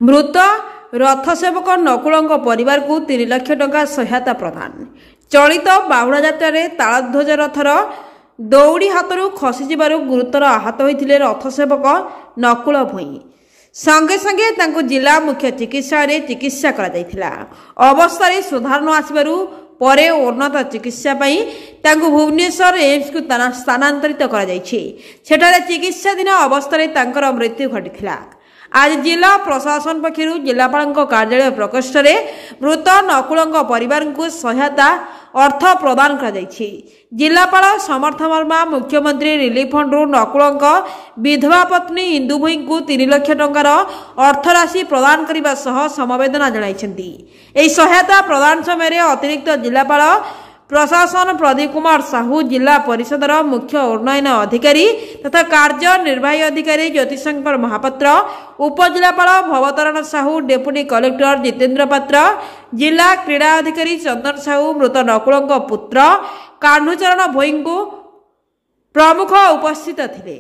ମୃତ ରଥ ସେବକ ନକୁଳଙ୍କ ପରିବାରକୁ 3 ଲକ୍ଷ ଟଙ୍କା ସହାୟତା ପ୍ରଦାନ। ଚଳିତ ବାହୁଡ଼ା ଯାତ୍ରାରେ ତାଳଧ୍ୱଜ ରଥର ଦଉଡ଼ି ହାତରୁ ଖସିଯିବାରୁ ଗୁରୁତର ଆହତ ହୋଇଥିଲେ ରଥ ସେବକ ନକୁଳ ଭୋଇ। ସଙ୍ଗେ ସଙ୍ଗେ ତାଙ୍କୁ ଜିଲ୍ଲା ମୁଖ୍ୟ ଚିକିତ୍ସାଳୟରେ ଚିକିତ୍ସା କରାଯାଇଥିଲା। ଅବସ୍ଥାରେ ସୁଧାର ନ ଆସିବାରୁ ପରେ ଉନ୍ନତ ଚିକିତ୍ସା ପାଇଁ ତାଙ୍କୁ ଭୁବନେଶ୍ୱର ଏମ୍ସକୁ ସ୍ଥାନାନ୍ତରିତ କରାଯାଇଛି। ସେଠାରେ ଚିକିତ୍ସାଧୀନ ଅବସ୍ଥାରେ ତାଙ୍କର ମୃତ୍ୟୁ ଘଟିଥିଲା। ଆଜି ଜିଲ୍ଲା ପ୍ରଶାସନ ପକ୍ଷରୁ ଜିଲ୍ଲାପାଳଙ୍କ କାର୍ଯ୍ୟାଳୟ ପ୍ରକୋଷ୍ଠରେ ମୃତ ନକୁଳଙ୍କ ପରିବାରଙ୍କୁ ସହାୟତା ଅର୍ଥ ପ୍ରଦାନ କରାଯାଇଛି। ଜିଲ୍ଲାପାଳ ସମର୍ଥ ବର୍ମା ମୁଖ୍ୟମନ୍ତ୍ରୀ ରିଲିଫ ଫଣ୍ଡରୁ ନକୁଳଙ୍କ ବିଧବା ପତ୍ନୀ ଇନ୍ଦୁ ଭୋଇଙ୍କୁ 3 ଲକ୍ଷ ଟଙ୍କାର ଅର୍ଥରାଶି ପ୍ରଦାନ କରିବା ସହ ସମବେଦନା ଜଣାଇଛନ୍ତି। ଏହି ସହାୟତା ପ୍ରଦାନ ସମୟରେ ଅତିରିକ୍ତ ଜିଲ୍ଲାପାଳ ପ୍ରଶାସନ ପ୍ରଦୀପ କୁମାର ସାହୁ, ଜିଲ୍ଲା ପରିଷଦର ମୁଖ୍ୟ ଉନ୍ନୟନ ଅଧିକାରୀ ତଥା କାର୍ଯ୍ୟନିର୍ବାହୀ ଅଧିକାରୀ ଜ୍ୟୋତିଶଙ୍କର ମହାପାତ୍ର, ଉପଜିଲ୍ଲାପାଳ ଭବତରଣ ସାହୁ, ଡେପୁଟି କଲେକ୍ଟର ଜିତେନ୍ଦ୍ର ପାତ୍ର, ଜିଲ୍ଲା କ୍ରୀଡ଼ା ଅଧିକାରୀ ଚନ୍ଦନ ସାହୁ, ମୃତ ନକୁଳଙ୍କ ପୁତ୍ର କାହ୍ନୁଚରଣ ଭୋଇଙ୍କୁ ପ୍ରମୁଖ ଉପସ୍ଥିତ ଥିଲେ।